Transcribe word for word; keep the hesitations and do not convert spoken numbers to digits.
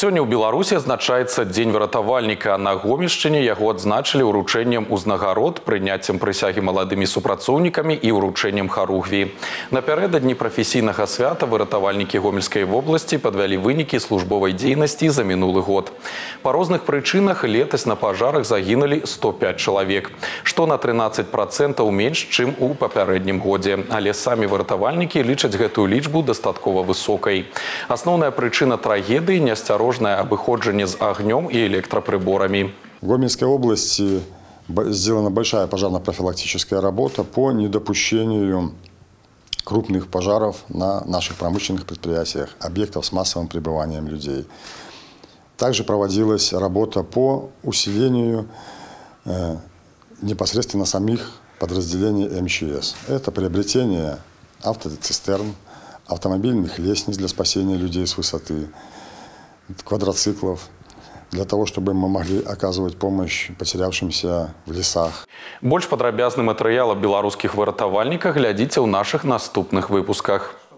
Сёння ў Беларусі адзначаецца дзень выратавальніка. На Гомельшчыне яго адзначылі ўручэннем узнагарод, прыняццем прысягі маладымі супрацоўнікамі і ўручэннем харугві. Напярэдадні прафесійнага свята выратавальнікі Гомельскай вобласці падвялі вынікі службовай дзейнасці за мінулы год. Па розных прычынах летась на пажарах загінулі сто пяць чалавек, што на трынаццаць працэнтаў менш, чым у папярэднім годзе. Але самі выратавальнікі лічаць гэтую лічбу дастаткова высокай. Асноўная прычына трагедыі – неасцярожнасць обыходжение с огнем и электроприборами. В Гомельской области сделана большая пожарно-профилактическая работа по недопущению крупных пожаров на наших промышленных предприятиях, объектов с массовым пребыванием людей. Также проводилась работа по усилению э, непосредственно самих подразделений эм че эс. Это приобретение автоцистерн, автомобильных лестниц для спасения людей с высоты, квадроциклов, для того, чтобы мы могли оказывать помощь потерявшимся в лесах. Больш падрабязны матэрыял аб беларускіх выратавальніках глядзіце ў нашых наступных выпусках.